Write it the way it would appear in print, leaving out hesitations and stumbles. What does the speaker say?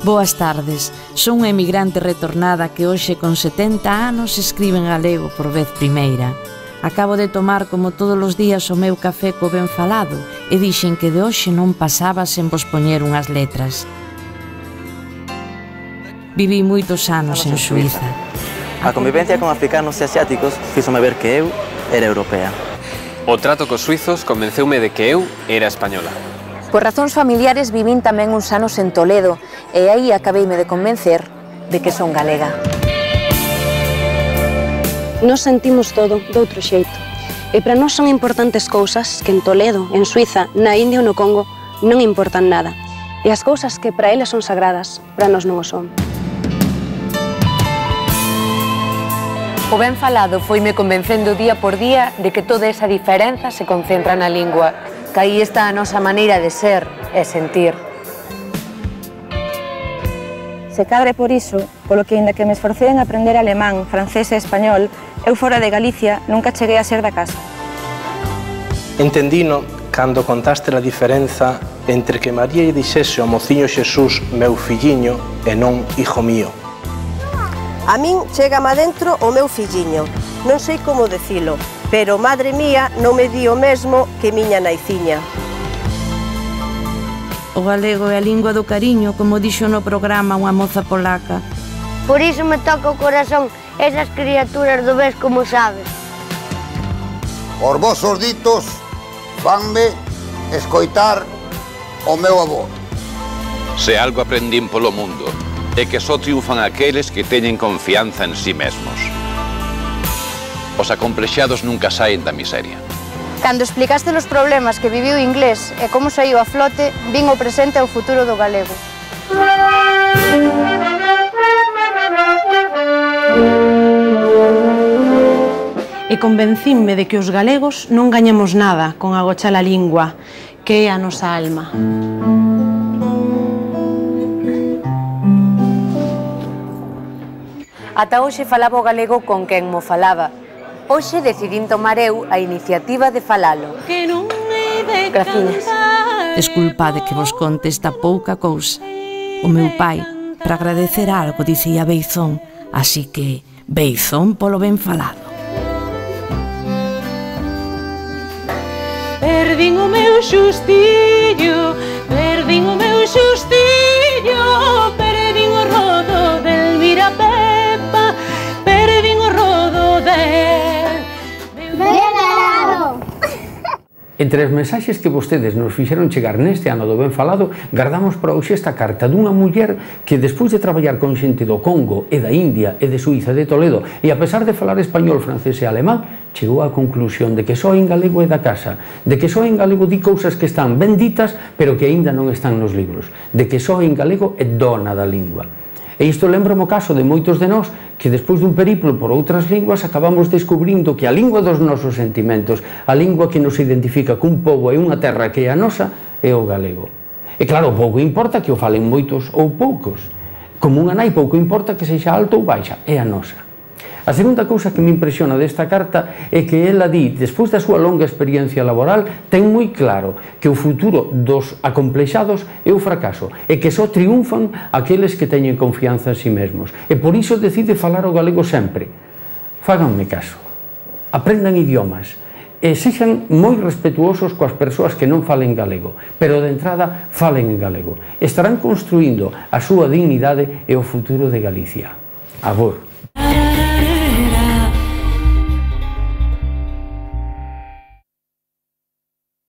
Boas tardes, son unha emigrante retornada que hoxe con 70 anos escribe en galego por vez primeira. Acabo de tomar como todos os días o meu café co ben falado e dixen que de hoxe non pasaba sen vos poñer unhas letras. Viví moitos anos en Suíza. A convivencia con africanos e asiáticos fíxome ver que eu era europea. O trato cos suizos convenceume de que eu era española. Por razóns familiares vivín tamén uns anos en Toledo e aí acabeime de convencer de que son galega. Nos sentimos todo doutro xeito e para nós son importantes cousas que en Toledo, en Suiza, na India ou no Congo non importan nada e as cousas que para eles son sagradas, para nós non o son. O ben falado foime convencendo día por día de que toda esa diferenza se concentra na lingua, que aí está a nosa maneira de ser e sentir. Se cadre por iso, polo que, inda que me esforcei en aprender alemán, francés e español, eu fora de Galicia nunca cheguei a ser da casa. Entendino cando contaste a diferenza entre que María lle dixese ao mociño Xesús meu filliño e non hijo mío. A min chégame adentro o meu filliño, non sei como dicilo, pero madre mía non me di o mesmo que miña naiciña. O galego é a lingua do cariño, como dixo no programa unha moza polaca. Por iso me toca o corazón esas criaturas do ves como sabes. Os vosos ditos fanme escoitar o meu avó. Se algo aprendín polo mundo é que só triunfan aqueles que teñen confianza en sí mesmos. Os acomplexados nunca saen da miseria. Cando explicaste os problemas que viviu o inglés e como saiu a flote, vin o presente e o futuro do galego. E convencínme de que os galegos non gañamos nada con agochar a lingua, que é a nosa alma. Ata hoxe falaba o galego con quen mo falaba. Hoxe decidín tomar eu a iniciativa de falalo. Graciñas. Desculpade que vos conte esta pouca cousa. O meu pai, para agradecer algo, dicía beizón, así que beizón polo ben falado. Perdín o meu xustillo, perdín o meu xustillo, perdín o rodo del Mirapepa, perdín o rodo del... Entre as mensaxes que vostedes nos fixeron chegar neste ano do ben falado, guardamos para hoxe esta carta dunha muller que, despois de traballar con xente do Congo e da India e de Suíza e de Toledo, e a pesar de falar español, francés e alemán, chegou á conclusión de que só en galego é da casa, de que só en galego di cousas que están ben ditas, pero que aínda non están nos libros, de que só en galego é dona da lingua. E isto lembra-me o caso de moitos de nós que despois dun periplo por outras linguas acabamos descubrindo que a lingua dos nosos sentimentos, a lingua que nos identifica cun pobo e unha terra que é a nosa, é o galego. E claro, pouco importa que o falen moitos ou poucos. Como unha nai pouco importa que sexa alta ou baixa, é a nosa. A segunda cousa que me impresiona desta carta é que ela di, despois da súa longa experiencia laboral, ten moi claro que o futuro dos acomplexados é o fracaso e que só triunfan aqueles que teñen confianza en si mesmos. E por iso decide falar o galego sempre. Fáganme caso. Aprendan idiomas e sexan moi respetuosos coas persoas que non falen galego, pero de entrada falen en galego. Estarán construindo a súa dignidade e o futuro de Galicia. Abur.